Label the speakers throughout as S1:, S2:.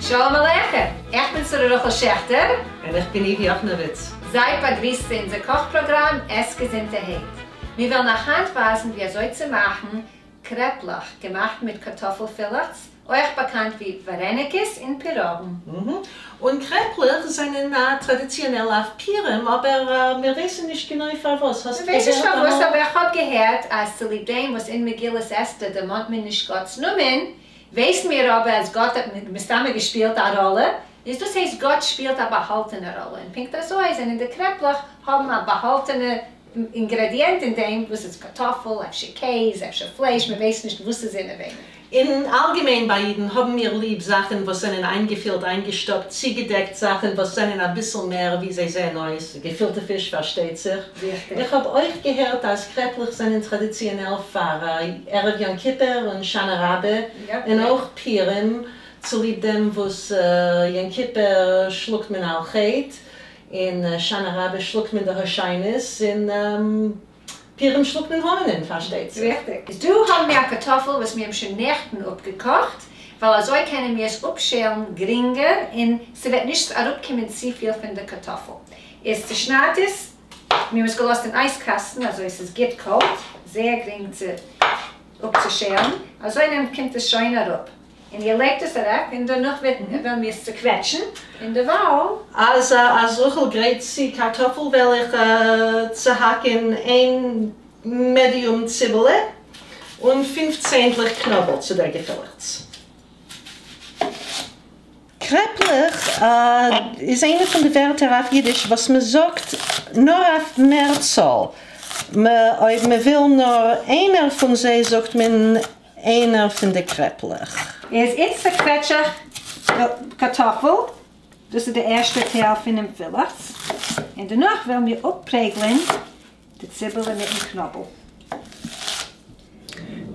S1: שלום עליכם! איך בין שרה רחל שעכטער.
S2: און איך בין איווי יאכנאוויץ.
S1: זייט באגריסט צו אונזער קאך פראגראם עס געזונטערהייט. מיר וועלן אייך היינט ווייזן ווי אזוי צו מאכן קרעפלעך געמאכט מיט קארטאפל פילעכץ, אויך באקאנט ווי ווארעניקעס און פיראגן.
S2: און קרעפלעך זענען טראדיציאנעל אויף פורים, אבער מיר ווייסן נישט גענוי פארוואס. האסט
S1: מ'ווייסט נישט
S2: געהערט
S1: פארוואס,
S2: אמאל?
S1: אבער איך האב געהערט אז צוליב דעם וואס אין מגילת אסתר דערמאנט מען נישט גאט'ס נאמען, ווייסן מיר אבער אז גאט האט מסתמא געשפילט א ראלע, איז דאס הייסט גאט שפילט א באהאלטענע ראלע, און פונקט אזוי זענען די קרעפלעך האבן א באהאלטענע אינגרעדיענט אין דעם, וואס איז קארטאפל, אפשר קעז, אפשר פלייש, מען ווייסט נישט וואס איז אינעווייניג.
S2: אין אלגעמיין ביי אידן האבן מיר ליב זאכן וואס זענען איינגעפילט, איינגעשטאפט, צוגעדעקט, זאכן וואס זענען אביסל מער ווי זיי זעען אויס, געפילטע פיש פארשטייט זיך. איך האב אויך געהערט אז קרעפלעך זענען טראדיציאנעל פאר ערב יום כיפור און שנה רבה, און אויך פורים, צוליב דעם וואס יום כיפור שלאגט מען על חטא, און שנה רבה שלאגט מען די הושענות, און פורים שלאגט מען המן'ען פארשטייט זיך.
S1: ריכטיג. איז דא האבן מיר א קארטאפל וואס מיר האבן שוין נעכטן אפגעקאכט, ווייל אזוי קענען מיר עס אפשעלן גרינגער און ס'וועט נישט אראפקומען צופיל פון די קארטאפל. איז צושניידט עס, מיר האבן עס געלאזט אין אייז קאסטן אזוי ס'איז גוט קאלט, זייער גרינג צו אפצושעלן, אזוי נעמט קומט עס שוין אראפ. און איר לייגט עס אוועק און דערנאך וועט וועלן מיר עס צוקוועטשן און דערווייל.
S2: אז אז רחל גרייט צו קארטאפל וועל איך צוהאקן איין medium ציבעלע און פינף צענדליך קנאבל צו דער געפילעכץ. קרעפלעך איז איינע פון די ווערטער אויף אידיש וואס מען זאגט נאר אויף מערצאל, אויב מען וויל נאר איינער פון זיי זאגט מען איינער פון די קרעפלעך.
S1: איז איצט צעקוועטש איך די קארטאפל, דאס איז די ערשטע טייל פונעם פילעכץ, און דערנאך וועלן מיר אפפרעגלען די ציבעלע מיטן קנאבל.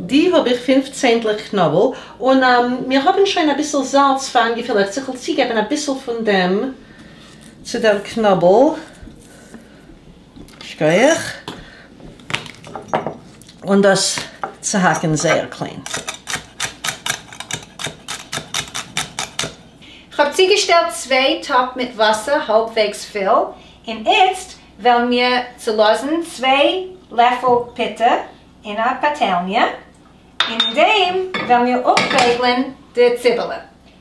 S2: די האב איך פינף צענדליך קנאבל, און מיר האבן שוין אביסל זאלץ פארן געפילעכץ, איך וועל צוגעבן אביסל פון דעם צו דער קנאבל. שכוח. און דאס צוהאקן זייער קליין.
S1: כ'האב צוגעשטעלט צוויי טאפ מיט וואסער האלבוועגס פול, און איצט וועלן מיר צולאזן צוויי לעפל פוטער אין א פאטעלניע, און אין דעם וועלן מיר אפפרעגלען די ציבעלע.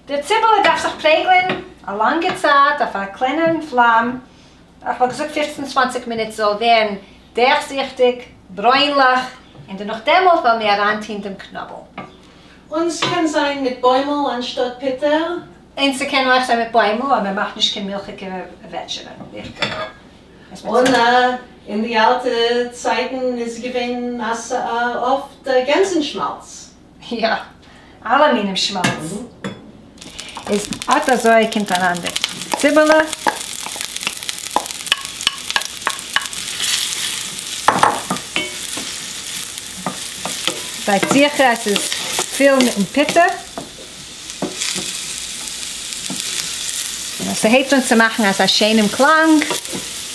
S1: די ציבעלע דארף זיך פרעגלען א לאנגע צייט אויף א קלענערן פלאם, איך וואלט געזאגט פופצן צוואנציג מינוט זאל ווערן דורכזיכטיג, ברוינליך, און דערנאך דעמאלט וועלן מיר אריינטוהן דעם קנאבל.
S2: און ס'קען זיין מיט בוימל אנשטאט פוטער.
S1: און ס'קען אויך זיין מיט בוימל, אבער מ'מאכט נישט קיין מילכיגע וועטשערע, ריכטיג?
S2: און אין די אלטע צייטן איז געווען אפט גענזן שמאלץ.
S1: יא, אלע מינים שמאלץ. איז אט אזוי קומט אריין די ציבעלע. זייט זיכער אז ס'איז פול מיטן פוטער. און אז ס'הייבט אן צו מאכן אזא שענעם קלאנג,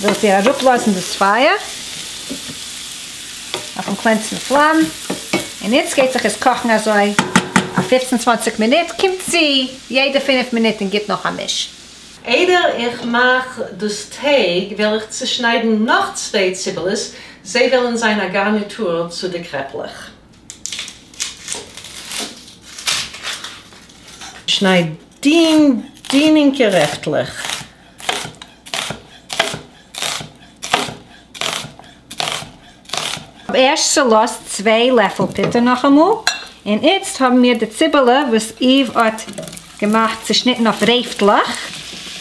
S1: ווילט איר אראפלאזן דאס פייער אויפן קלענסטן פלאם, און איצט גייט זיך עס קאכן אזוי א פופצן צוואנציג מינוט, קומט צו יעדע פינף מינוט און גיבט נאך א מיש.
S2: איידער איך מאך דאס טייג וועל איך צושניידן נאך צוויי ציבעלעס, זיי וועלן זיין א גארניטור צו די קרעפלעך. שנייד דין דינינקע רעפטלעך.
S1: כ'האב ערשט צולאזט צוויי לעפל פוטער נאכאמאל, און איצט האבן מיר די ציבעלע וואס איוו האט געמאכט צושניטן אויף רעפטלעך,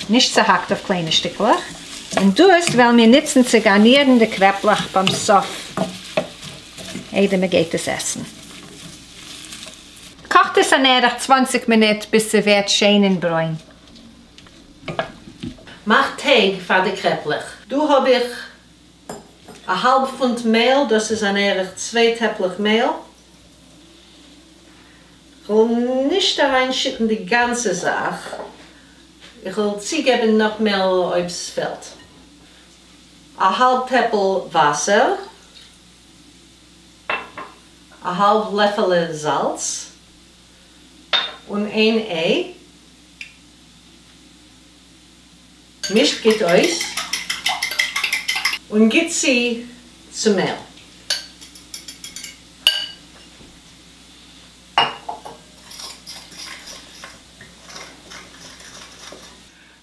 S1: נישט צוהאקט אויף קליינע שטיקלעך, און דאס וועלן מיר נוצן צו גארנירן די קרעפלעך ביים סוף איידער מען גייט עס עסן. קאכט עס אן ערך 20 מינוט ביז ס'ווערט שיין און ברוין.
S2: מאך טייג פאר די קרעפלעך. דא האב איך א האלב פונט מעהל, דאס איז אן ערך צוויי טעפלעך מעהל. כ'וועל נישט אריינשיטן די גאנצע זאך, איך וועל צוגעבן נאך מעהל אויב ס'פעלט. א האלב טעפל וואסער. א האלב לעפעלע זאלץ. און איין איי. מישט גוט אויס און גיט צו צום מעל.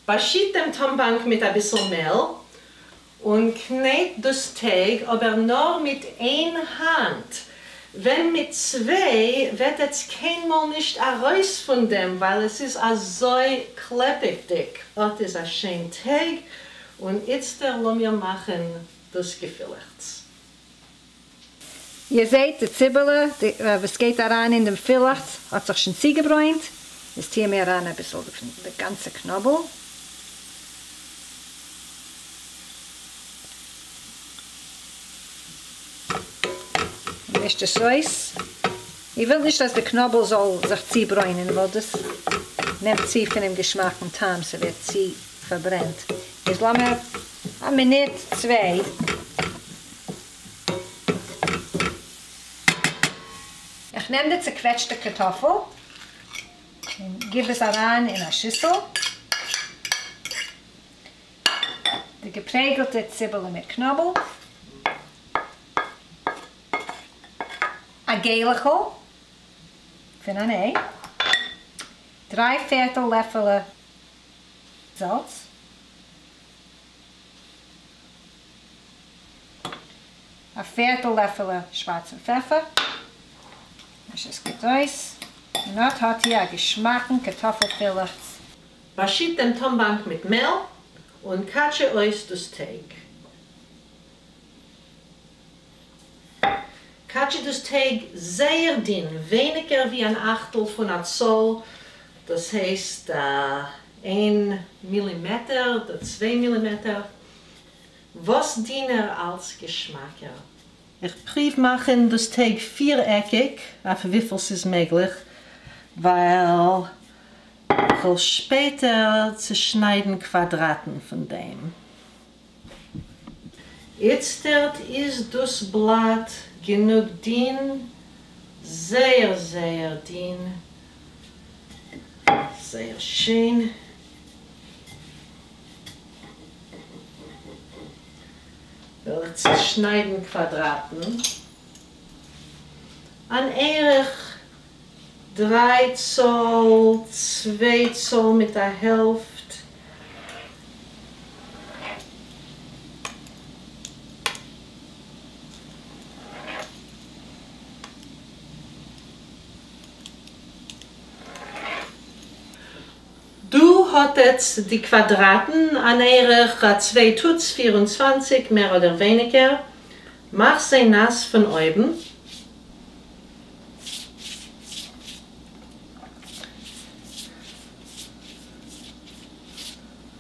S2: באשיט דעם טאמבאנק מיט אביסל מעל און קנעט דאס טייג אבער נאר מיט איין האנט, ווען מיט צוויי וועט עטס קיינמאל נישט ארויס פון דעם ווייל עס איז אזוי קלעפעדיג. אט איז א שיין טייג, און איצטער לאמיר מאכן דאס געפילעכטס.
S1: איר זעט די ציבעלע וואס גייט אריין אין דעם פילעכטס האט זיך שוין צוגעברוינט, איז טוען מיר אריין אביסל פון די גאנצע קנאבל. און מישט עס אויס. איר ווילט נישט אז די קנאבל זאל זיך צוברוינען ווייל דאס נעמט צו פונעם געשמאק און טעם, ס'ווערט צו פארברענט. איז לאמיר א מינוט צוויי. איך נעם די צעקוועטשטע קארטאפל און גיב עס אריין אין א שיסל, די געפרעגלטע ציבעלע מיט קנאבל, א געלעכל פון אן איי, דריי פערטל לעפעלע זאלץ, א פערטל לעפעלע שווארצן פעפער, מיש עס גוט אויס, און אט האט איר א געשמאקן קארטאפל פילעכץ.
S2: באשיט דעם טאמבאנק מיט מעל און קאטשע אויס דאס טייג. קאטשע דאס טייג זייער דין, ווייניגער ווי אן אכטל פון א צאל, דאס הייסט איין מילימעטער אדער צוויי מילימעטער, וואס דינער אלץ געשמאקער. איך פריוו מאכן דאס טייג פירעקיג אויף וויפיל ס'איז מעגליך, ווייל כ'וועל שפעטער צושניידן קוואדראטן פון דעם. איצטערט איז דאס בלאט גענוג דין, זייער זייער דין, זייער שיין. וועל איך צושניידן קוואדראטן, אן ערך דריי צאל, צוויי צאל מיט א העלפט. דא האט עטץ די קוואדראטן, אן ערך א צוויי טוץ 24 מער אדער ווייניגער, מאך זיי נאס פון אויבן.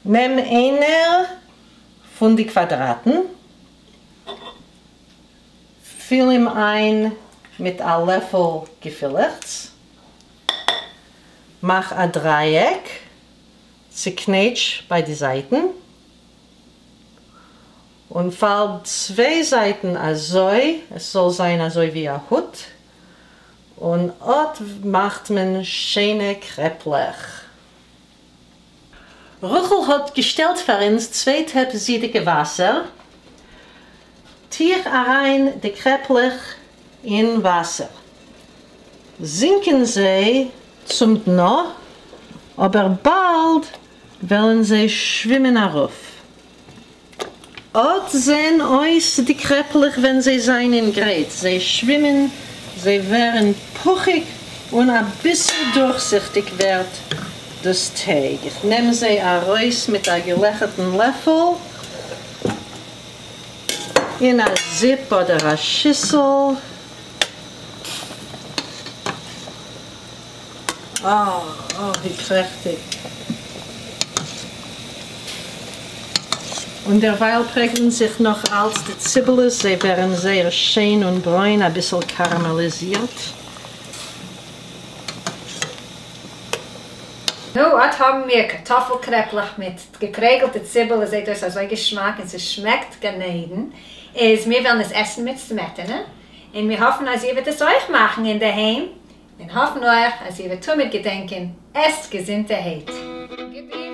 S2: נעם איינער פון די קוואדראטן, פיל אים איין מיט א לעפל געפילעכטס, מאך א דרייעק, צוקנעטש ביי די זייטן, און פאלד צוויי זייטן אזוי עס זאל זיין אזוי ווי א הוט, און אט מאכט מען שיינע קרעפלעך. רחל האט געשטעלט פאר אונז צוויי טעפ זידיגע וואסער, טו איך אריין די קרעפלעך אין וואסער, זינקען זיי צום דנא, אבער באלד וועלן זיי שווימען ארויף. אט זעהן אויס די קרעפלעך ווען זיי זענען גרייט, זיי שווימען, זיי ווערן פוכיג און אביסל דורכזיכטיג ווערט דאס טייג. איך נעם זיי ארויס מיט א געלעכערטן לעפל אין א זיפ אדער א שיסל. אה, אה, ווי פרעכטיג. און דערווייל פרעגלן זיך נאך אלץ די ציבעלעס, זיי ווערן זייער שיין און ברוין, אביסל קאראמעליזירט.
S1: נו, אט האבן מיר קארטאפל קרעפלעך מיט געפרעגלטע ציבעלע, זעט אויס אזוי געשמאק און ס'שמעקט גן עדן, איז מיר וועלן עס עסן מיט סמעטענע, און מיר האפן אז איר וועט עס אויך מאכן אינדערהיים, און האפן אויך אז איר וועט תמיד געדענקען, עסט געזונטערהייט. גוט.